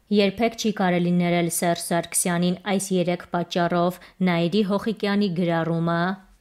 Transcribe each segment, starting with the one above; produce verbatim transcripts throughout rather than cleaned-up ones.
Երբեք չի կարելի ներել Սերժ Սարգսյանին այս երեք պատճառով՝ Նաիրի Հոխիկյանի գրառումը։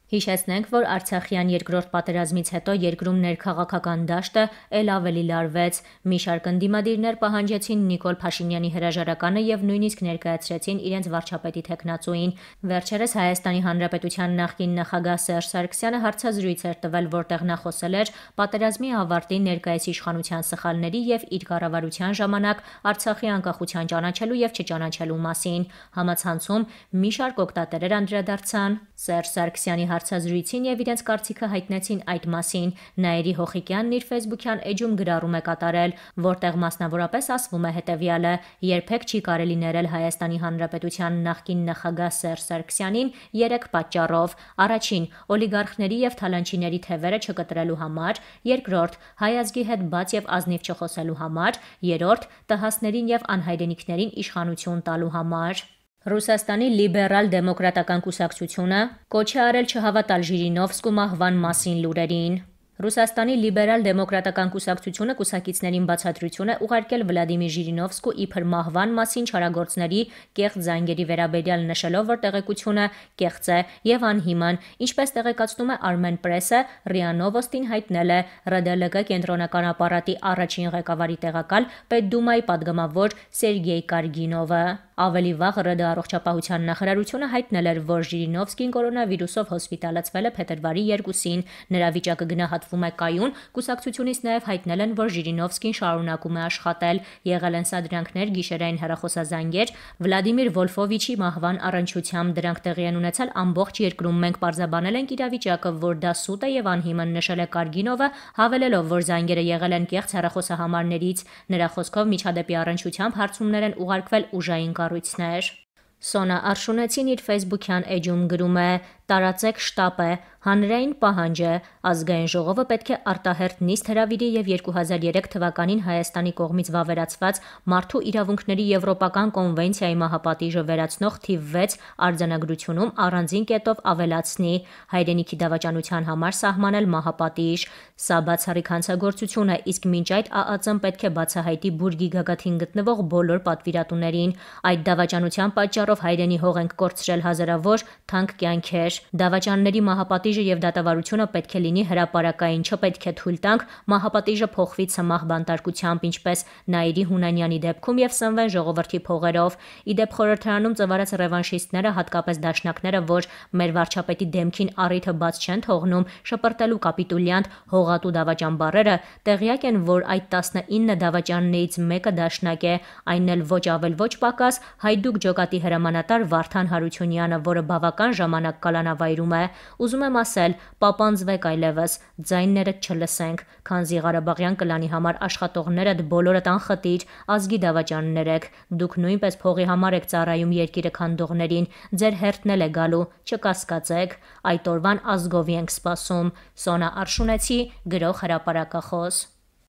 Հիշեցնենք, որ Արցախյան երկրորդ պատերազմից հետո երկրում ներքաղաքական դաշտը էլ ավելի լարվեց։ Մի շարք ընդդիմադիրներ պահանջեցին Նիկոլ Փաշինյանի հրաժարականը եւ նույնիսկ ներկայացրեցին իրենց վարչապետի թեկնածուին։ Վերջերս Հայաստանի Հանրապետության նախկին նախագահ Սերժ Սարգսյանը հարցազրույց էր տվել, որտեղ նա խոսել էր պատերազմի ավարտի, ներկայիս իշխանության սխալների եւ իր կառավարության ժամանակ Արցախի անկախության ճանաչելու եւ չճանաչելու մասին։ Համացանցում մի շարք օգտատերեր անդրադարձան Սերժ Սարգսյանի հարցազրույցին եւ իրենց կարծիքը հայտնեցին այդ մասին։ Նաիրի Հոխիկյանն իր Facebook-յան էջում գրառում է կատարել, որտեղ մասնավորապես ասվում է հետեւյալը. երբեք չի կարելի ներել Հայաստանի Հանրապետության նախկին նախագահ Սերժ Սարգսյանին երեք պատճառով. առաջին՝ օլիգարխների եւ թալանչիների թևերը չկտրելու համար, երկրորդ՝ հայ ազգի հետ բաց եւ ազնիվ չխոսելու համար, երրորդ՝ տհասներին եւ անհայրենիքներին իշխանություն տալու համար։ Ռուսաստանի լիբերալ-դեմոկրատական կուսակցությունը կոչ է արել չհավատալ Ժիրինովսկու մահվան մասին լուրերին։ Ռուսաստանի լիբերալ-դեմոկրատական կուսակցությունը կուսակիցներին բացատրություն է ուղարկել Վլադիմիր Ժիրինովսկու իբր մահվան մասին չարագործների կեղծ զանգերի վերաբերյալ, նշելով, որ տեղեկությունը կեղծ է եւ անհիմն։ Ինչպես տեղեկացնում է Armen Press-ը, ՌԻԱ Նովոստին հայտնել է ՌԴԼԿ կենտրոնական ապարատի առաջին ղեկավարի տեղակալ Պետդումայի падգամավոր Սերգեյ Կարգինովը։ Ավելի վաղ ՌԴ առողջապահության նախարարությունը հայտնել էր, որ Ժիրինովսկին կորոնավիրուսով հոսպիտալացվել է փետրվարի երկուսին։ Նրա վիճակը գնահատվում է կայուն։ Կուսակցությունից նաև հայտնել են, որ Ժիրինովսկին շարունակում է աշխատել։ Եղել են սադրանքներ, գիշերային հեռախոսազանգեր Վլադիմիր Վոլֆովիչի մահվան առնչությամբ։ Դրանք տեղի են ունեցել ամբողջ երկրում։ Մենք պարզաբանել ենք իրավիճակը, որ դա սուտ է եւ անհիմն, նշել է Կարգինովը, հավելելով, որ զանգերը եղել են կեղծ հեռախոսահամարներից։ Նրա խոսքով միջադեպի առնչությամբ հարցումներ են ուղարկվել ուժային կառույցներ։ Սոնա Արշունեցին իր Facebook-յան էջում գրում է. տարածեք շտապը, հանրային պահանջ է, ազգային ժողովը պետք է արտահերթ նիստ հրավիրի եւ երկու հազար երեք թվականին Հայաստանի կողմից վավերացված Մարդու իրավունքների Եվրոպական կոնվենցիայի մահապատիժը վերացնող թիվ վեց արձանագրությունում առանձին կետով ավելացնի հայրենիքի դավաճանության համար սահմանել մահապատիժ։ Սա բացառիկ հանցագործություն է, իսկ մինչ այդ ԱԱԾ-ն պետք է բացահայտի բուրգի գագաթին գտնվող բոլոր պատվիրատուներին։ Այդ դավաճանության պատճառով հայրենի հող ենք կորցրել հազարավոր թանկ կյանքեր։ Դավաճանների մահապատիժը եւ դատավարությունը պետք է լինի հրապարակային, չպետք է թույլ տանք մահապատիժը փոխվի ցմահ բանտարկությամբ, ինչպես Նաիրի Հունանյանի դեպքում եւ սնվեն ժողովրդի փողերով։ Իդեպ խորհրդարանում ծվարած ռևանշիստները, հատկապես դաշնակները, որ մեր վարչապետի դեմքին առիթը բաց չեն թողնում շպրտելու կապիտուլյանտ հողատու դավաճան բառերը, տեղյակ են, որ այդ տասնինը դավաճաններից մեկը դաշնակ է, այն էլ ոչ ավել ոչ պակաս Հայդուկ ջոկատի հրամանատար Վարդան Հարությունյանը, որը բավական ժամանակ կալանավայրում է։ Ուզում եմ ասել, պապանձվեք այլևս, ձայներդ չլսենք, քանզի Ղարաբաղյան կլանի համար աշխատողներդ բոլորդ անխտիր, ազգի դավաճաններ եք, դուք նույնպես փողի համար եք ծառայում երկիրը քանդողներին, ձեր հերթն էլ է գալու, չկասկածեք, այդ օրվան ազգովի ենք սպասում։ Սոնա Արշունեցի, գրող հրապարակախոս։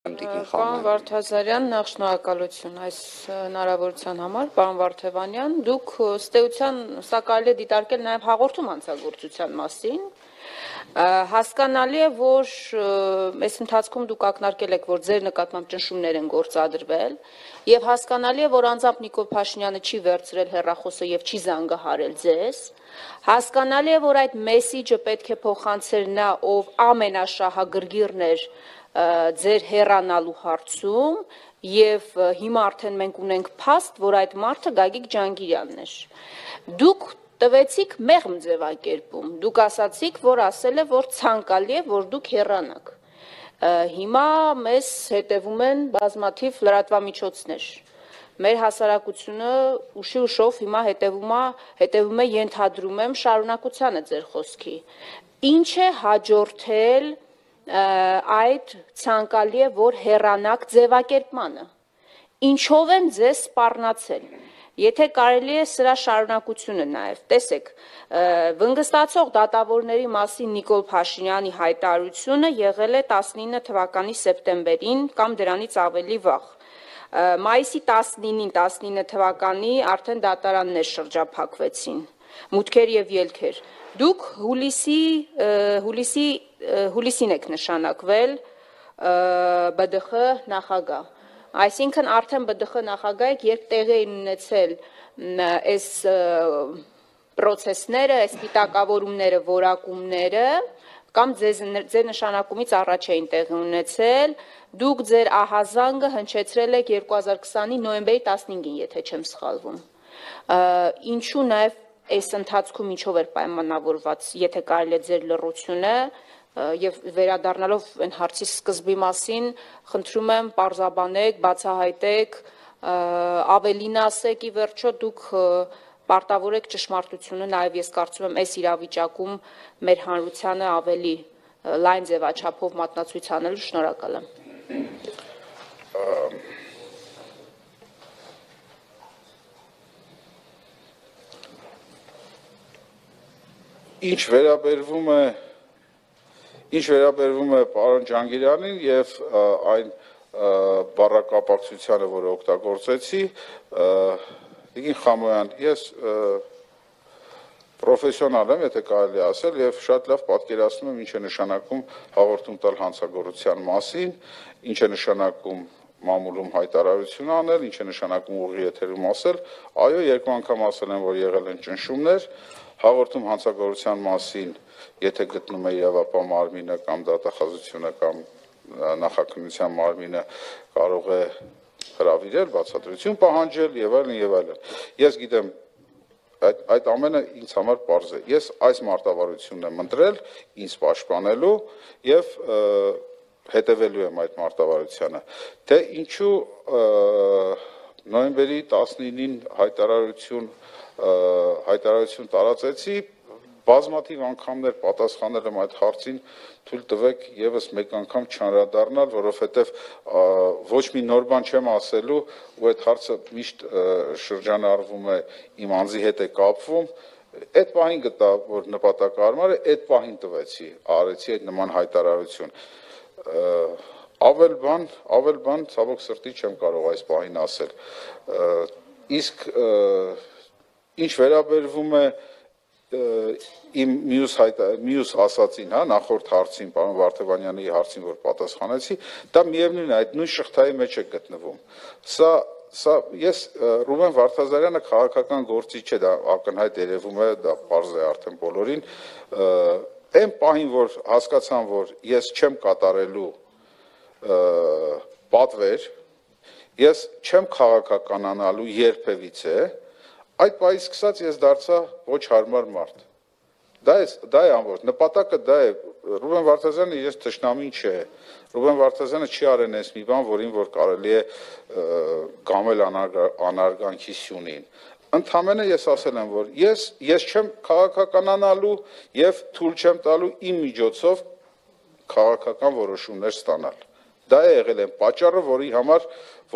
Պարոն Վարդազարյան, նախ շնորհակալություն այս հնարավորության համար, պարոն Վարդևանյան, դուք ըստ էության սա կարելի է դիտարկել նաև հաղորդում հանցագործության մասին։ Հասկանալի է, որ այս ընթացքում դուք ակնարկել եք, որ ձեր նկատմամբ ճնշումներ են գործադրվել, եւ հասկանալի է, որ անձամբ Նիկոլ Փաշինյանը չի վերցրել հեռախոսը եւ չի զանգահարել ձեզ։ Հասկանալի է, որ այդ մեսիջը պետք է փոխանցեր նա, ով ամենաշահագրգիռն էր ձեր հեռանալու հարցում, եւ հիմա արդեն մենք ունենք փաստ, որ այդ մարդը Գագիկ Ջանգիրյանն էր։ Դուք տվեցիք մեղմ ձևակերպում, դուք ասացիք, որ ասել է, որ ցանկալի է, որ դուք հեռանաք։ Հիմա մեզ հետևում են բազմաթիվ լրատվամիջոցներ։ Մեր հասարակությունը ուշի ուշով հիմա հետևում է, հետևում է, ենթադրում եմ, շարունակությանը ձեր խոսքի։ Ինչ է հաջորդել այդ ցանկալի է, որ հեռանաք ձևակերպմանը։ Ինչով են ձեզ սպառնացել։ Եթե կարելի է սրա շարունակությունը նաև, տեսեք, վնգստացող դատավորների մասին Նիկոլ Փաշինյանի հայտարարությունը եղել է տասնինը թվականի սեպտեմբերին կամ դրանից ավելի վաղ։ Մայիսի տասնինին տասնինը թվականի արդեն դատարաններ շրջափակվեցին, մուտքեր եւ ելքեր։ Դուք հուլիսի հուլիսին եք նշանակվել ԲԴԽ նախագահ։ Այսինքն արդեն Բ Դ Խ նախագահը երբ տեղի էին ունեցել այս պրոցեսները, այս պիտակավորումները, որակումները, կամ ձեզ ձեր նշանակումից առաջ էին տեղի ունեցել, դուք ձեր ահազանգը հնչեցրել եք երկու հազար քսանի նոյեմբերի տասնհինգին, եթե չեմ սխալվում։ Ինչու նաև այս ընթացքում ինչով էր պայմանավորված, եթե կարելի է ձեր լռությունը, եւ վերադառնալով այն հարցի սկզբի մասին, խնդրում եմ պարզաբանեք, բացահայտեք, ավելին ասեք, ի վերջո դուք պարտավոր եք ճշմարտությունը, նաև ես կարծում եմ այս իրավիճակում մեր հանրությանը ավելի լայն ձևաչափով մատնացույց անելու, շնորհակալ եմ։ Ինչ վերաբերվում է Ինչ վերաբերվում է պարոն Ջանգիրյանին եւ այն բառակապակցությանը, որը օգտագործեցի, Տիկին Խամոյան, ես պրոֆեսիոնալ եմ, եթե կարելի ասել, եւ շատ լավ պատկերացնում եմ ինչ է նշանակում հաղորդում տալ հանցագործության մասին, ինչ է նշանակում մամուլում հայտարարություն անել, ինչ է նշանակում ուղիղ եթերում ասել, այո, երկու անգամ ասել եմ, որ եղել են ճնշումներ, հաղորդում հանցագործության մասին, եթե գտնում է իրավապահ մարմինը կամ դատախազությունը կամ նախաքննության մարմինը կարող է հրավիրել, բացատրություն պահանջել եւ այլն եւ այլն։ Ես գիտեմ այդ այդ ամենը ինձ համար պարզ է։ Ես այս մարտավարությունն եմ ընտրել ինձ պաշտպանելու եւ հետևելու եմ այդ մարտավարությանը։ Թե ինչու նոյեմբերի տասնինին հայտարարություն հայտարարություն տարածեցի, բազմաթիվ անգամներ պատասխանել եմ այդ հարցին, թույլ տվեք եւս մեկ անգամ չանդրադառնալ, որովհետեւ ոչ մի նոր բան չեմ ասելու, ու այդ հարցը միշտ շրջանառվում է իմ անձի հետ է կապվում, այդ պահին գտա, որ նպատակահարմար է, այդ պահին տվեցի, արեցի այդ նման հայտարարություն։ Ավել բան, ավել բան ցավոք սրտի չեմ կարող այս պահին ասել։ Իսկ ինչ վերաբերվում է իմ մյուս մյուս ասացին, հա, նախորդ հարցին, պարոն Վարդևանյանի հարցին, որ պատասխանեցի, դա միևնույն է, այդ նույն շղթայի մեջ է գտնվում։ Սա սա ես Ռուբեն Վարդազարյանը քաղաքական գործիչ չէ, դա ակնհայտ երևում է, դա պարզ է արդեն բոլորին։ Այն պահին, որ հասկացան, որ ես չեմ կատարելու պատվեր, ես չեմ քաղաքականանալու երբևիցե, այդ պահից սկսած ես դարձա ոչ հարմար մարդ։ Դա է, դա է ամբողջ նպատակը, դա է։ Ռուբեն Վարդազյանը ես թշնամին չէ։ Ռուբեն Վարդազյանը չի արեն այս մի բան, որին որ կարելի է կամել անարգանքի սյունին։ Ընդամենը ես ասել եմ, որ ես ես չեմ քաղաքականանալու եւ թույլ չեմ տալու իմ միջոցով քաղաքական որոշումներ ստանալ։ Դա է եղել այն պատճառը, որի համար